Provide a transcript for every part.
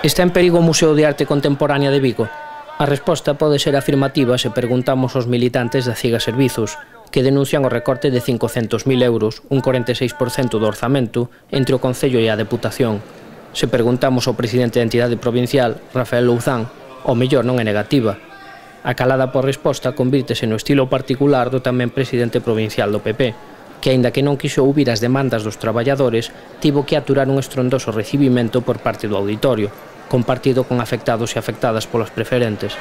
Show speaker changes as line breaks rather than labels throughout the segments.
Está en perigo o Museo de Arte Contemporánea de Vigo? A resposta pode ser afirmativa se preguntamos aos militantes da CIGA Servizos, que denuncian o recorte de 500.000 euros, un 46% do orzamento, entre o Concello e a Deputación. Se preguntamos ao presidente da entidade provincial, Rafael Louzán, o mellor non é negativa. A calada por resposta convírtese no estilo particular do tamén presidente provincial do PP, que, aínda que non quixo ouvir as demandas dos traballadores, tivo que aturar un estrondoso recibimento por parte do auditorio, compartido con afectados e afectadas polas preferentes.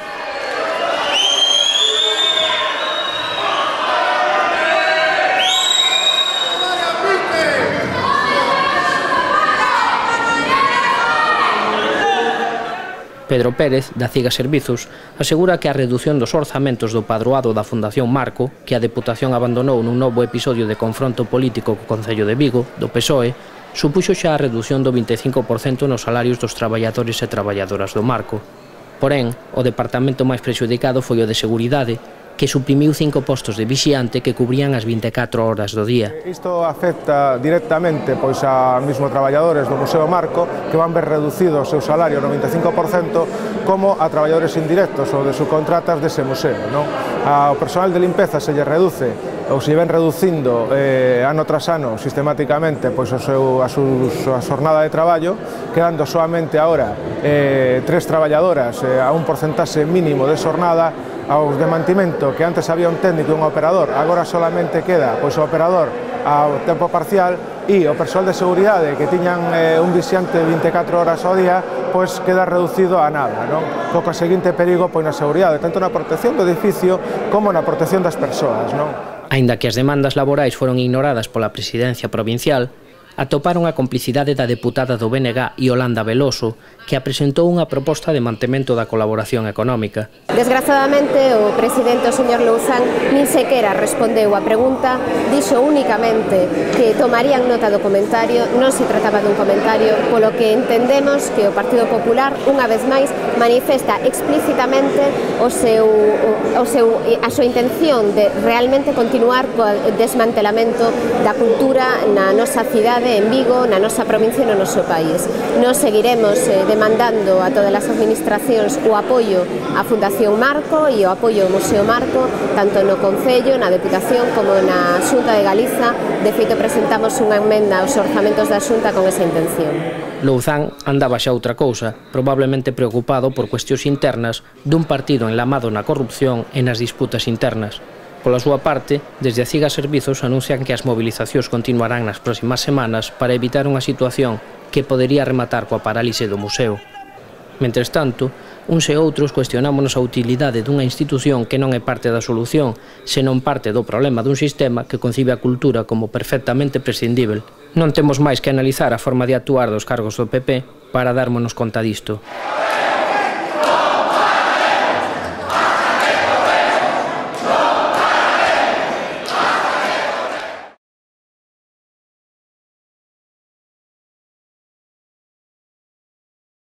Pedro Pérez, da CIGA Servizos, asegura que a redución dos orzamentos do padroado da Fundación Marco, que a Deputación abandonou nun novo episodio de confronto político co Concello de Vigo, do PSOE, supuxo xa a redución do 25% nos salarios dos traballadores e traballadoras do Marco. Porén, o departamento máis prexudicado foi o de Seguridade, que suprimiu 5 postos de vixiante que cubrían as 24 horas do día.
Isto afecta directamente a mismos traballadores do Museo Marco, que van ver reducido o seu salario no 25%, como a traballadores indirectos ou de subcontratas dese museo. Ao personal de limpeza se lle reduce ou se ven reducindo ano tras ano sistemáticamente a xornada de traballo, quedando soamente agora 3 traballadoras a un porcentaxe mínimo de xornada. Ao desmantimento, que antes había un técnico e un operador, agora solamente queda o operador ao tempo parcial, e o persoal de seguridade que tiñan un vixiante de 24 horas ao día, queda reducido a nada, co seguinte perigo na seguridade, tanto na protección do edificio como na protección das persoas.
Aínda que as demandas laborais foron ignoradas pola presidencia provincial, atoparon a complicidade da deputada do BNG, Iolanda Veloso, que apresentou unha proposta de mantemento da colaboración económica.
Desgraciadamente, o presidente, o señor Louzán, nin sequera respondeu a pregunta, dixo únicamente que tomarían nota do comentario, non se trataba dun comentario, polo que entendemos que o Partido Popular, unha vez máis, manifesta explícitamente a súa intención de realmente continuar co desmantelamento da cultura na nosa cidade, en Vigo, na nosa provincia e no noso país. Nos seguiremos demandando a todas as administracións o apoio á Fundación Marco e o apoio ao Museo Marco, tanto no Concello, na Deputación, como na Xunta de Galiza. De feito, presentamos unha emenda aos orzamentos da Xunta con esa intención.
Louzán andaba xa outra cousa, probablemente preocupado por cuestións internas dun partido enlamado na corrupción e nas disputas internas. Pola súa parte, desde a CIGA Servizos anuncian que as mobilizacións continuarán nas próximas semanas para evitar unha situación que podería rematar coa parálise do museo. Mentres tanto, uns e outros cuestionámonos a utilidade dunha institución que non é parte da solución, senón parte do problema dun sistema que concibe a cultura como perfectamente prescindível. Non temos máis que analizar a forma de actuar dos cargos do PP para dármonos conta disto.